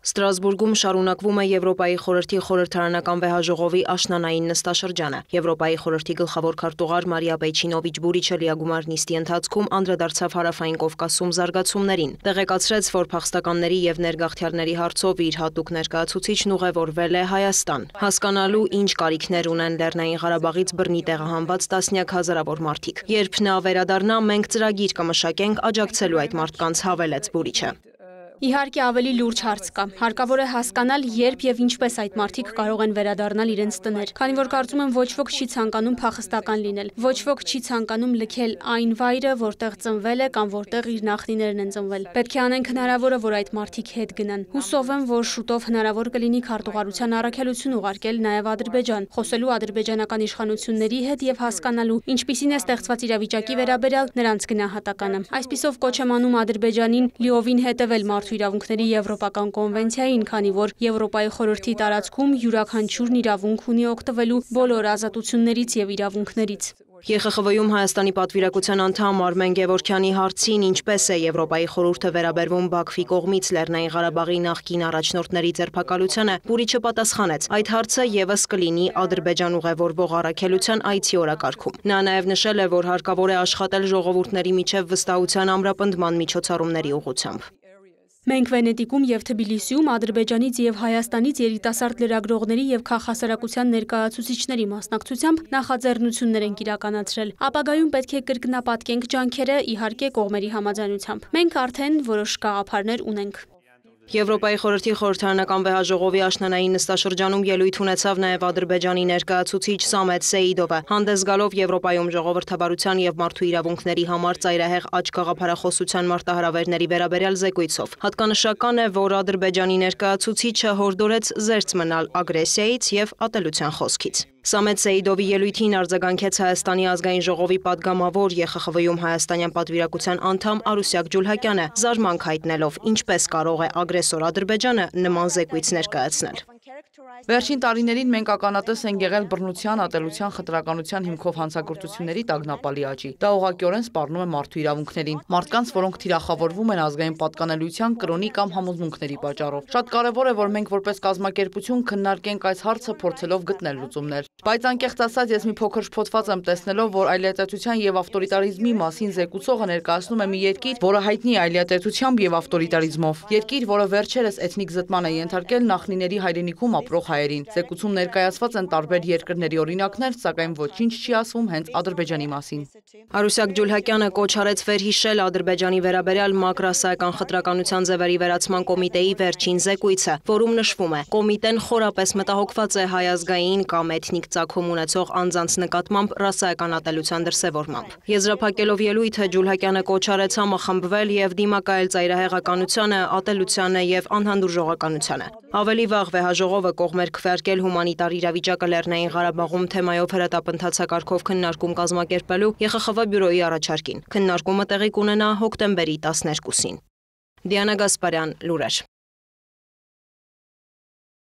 Ստրասբուրգում շարունակվում է Եվրոպայի խորհրդի խորհրդարանական վեհաժողովի աշնանային նստաշրջանը։ Եվրոպայի խորհրդի գլխավոր քարտուղար Մարիա Պեյչինովիչ Բուրիչը լիագումար նիստի ընթացքում անդրադարձավ Հարավային Կովկասում զարգացումներին։ Տեղեկացրեց, որ փախստականների եւ ներգաղթյալների հարցով իր հատուկ ներկայացուցիչն ուղևորվել է Հայաստան, հասկանալու ինչ կարիքներ ունեն Լեռնային Ղարաբաղից բռնի տեղահանված տասնյակ հազարավոր մարդիկ։ Երբ նա վերադառնա, մենք ծրագիր կմշակենք աջակցելու այդ մարդկանց, հավելեց Բուրիչը։ Իհարկե ավելի լուրջ հարց կա։ Հարկավոր է հասկանալ, երբ եւ ինչպես այդ մարդիկ կարող են վերադառնալ իրենց տներ, քանի որ կարծում եմ ոչ ոք չի ցանկանում փախստական լինել, ոչ ոք չի ցանկանում լքել այն վայրը, որտեղ ծնվել է կամ որտեղ իր նախնիներն են ծնվել։ Պետք է անենք հնարավորը, որ այդ մարդիկ հետ գնան։ Հուսով եմ, որ շուտով հնարավոր կլինի քարտուղարության առաքելություն ուղարկել նաեւ Ադրբեջան, խոսելու ադրբեջանական իշխանությունների հետ եւ հասկանալու, ինչպիսին է ստեղծված իրավիճակի վերաբերյալ նրանց գնահատականը։ Այսպիսով կոչ եմ անում Ադրբեջանին լիովին հետևել մարդու իրավունքների Եվրոպական կոնվենցիային, քանի որ Եվրոպայի խորհրդի տարածքում յուրաքանչյուրն իրավունք ունի օգտվելու բոլոր ազատություններից եւ իրավունքներից։ ԵԽԽՎ-ում Հայաստանի պատվիրակության անդամ Արմեն Գևորգյանի հարցին ինչպես է Եվրոպայի խորհուրդը վերաբերվում Բաքվի կողմից Լեռնային Ղարաբաղի նախկին առաջնորդների ձերբակալությանը, Բուրիչը պատասխանեց. այդ հարցը եւս կլինի Ադրբեջան ուղևորվող առաքելության այցի օրակարգում։ Նա նաեւ նշել է, որ հարկավոր է աշխատել ժողովուրդների միջև վստահության ամրապնդման միջոցառումների ուղղությամբ։ Մենք Վենետիկում եւ Թբիլիսիում Ադրբեջանից եւ Հայաստանից երիտասարդ լրագրողների եւ քաղաքասարակության ներկայացուցիչների մասնակցությամբ նախաձեռնություններ ենք իրականացրել։ Ապագայում պետք է կրկնապատկենք ջանքերը, իհարկե կողմերի համաձայնությամբ։ Մենք արդեն որոշ գաղափարներ ունենք։ Եվրոպայի խորհրդի խորհրդարանական վեհաժողովի աշնանային նստաշրջանում ելույթ ունեցավ նաև Ադրբեջանի ներկայացուցիչ Սամետ Սեիդովը, հանդես գալով Եվրոպայում ժողովրդավարության եւ մարդու իրավունքների համար ծայրահեղ աճ գաղափարախոսության մարտահրավերների վերաբերյալ զեկույցով։ Հատկանշական է, որ Ադրբեջանի ներկայացուցիչը հորդորեց զերծ մնալ ագրեսիայից եւ ատելության խոսքից։ Սամետ Սեիդովի ելույթին արձագանքեց Հայաստանի ազգային ժողովի падգամավոր ԵԽԽՎ-ում հայաստանյան պատվիրակության անդամ Արուսյակ Ջուլհակյանը, զարմանք հայտնելով, ինչպես կարող է ագրեսոր Ադրբեջանը նման զեկույց ներկայացնել։ Վերջին տարիներին մենք ականատես ենք եղել բռնության, ատելության, խտրականության հիմքով հանցագործությունների տագնապալի աճի։ Դա ուղղակիորեն սպառնում է մարդու իրավունքներին, մարդկանց, որոնք թիրախավորվում են ազգային պատկանելիության, կրոնի կամ համոզմունքների պատճառով։ Շատ կարևոր է, որ մենք որպես կազմակերպություն քննարկենք այս հարցը, փորձելով գտնել լուծումներ։ Բայց անկեղծ ասած, ես մի փոքր շփոթված եմ տեսնելով, որ այլիատետության եւ ավտորիտարիզմի մասին զեկուցողը ներկայացնում է մի երկիր, որը հայտնի է այլիատետությամբ եւ ավտորիտարիզմով։ Երկիր, որը վերջերս էթնիկ զտման է ենթարկել նախնիների հայրենիքում ապրող հայերին։ Զեկուցում ներկայացված են տարբեր երկրների օրինակներ, սակայն ոչինչ չի ասվում հենց Ադրբեջանի մասին։ Արուսյակ Ջուլհակյանը կոչ արեց վերհիշել Ադրբեջանի վերաբերյալ մակրասայական խտրականության ձևերի վերացման կոմիտեի վերջին զեկույցը, որում նշվում է. կոմիտեն խորապես մտահոգված է հայ ազգային կամ էթնիկ ծագում ունեցող անձանց նկատմամբ ռասայական ատելության դրսևորմամբ։ Եզրափակելով ելույթը Ջուլհակյանը կոչ արեց համախմբվել եւ դիմակայել ծայրահեղականությանը, ատելությանը եւ անհանդուրժողականությանը։ Ավելի վաղ վեհաժողովը կողմեր քվեարկել հումանիտար իրավիճակը Լեռնային Ղարաբաղում թեմայով հրատապընթացակարգով քննարկում կազմակերպելու ԵԽԽՎ բյուրոյի առաջարկին։ Քննարկումը տեղի կունենա հոկտեմբերի 12-ին։ Դիանա Գասպարյան, լուրեր։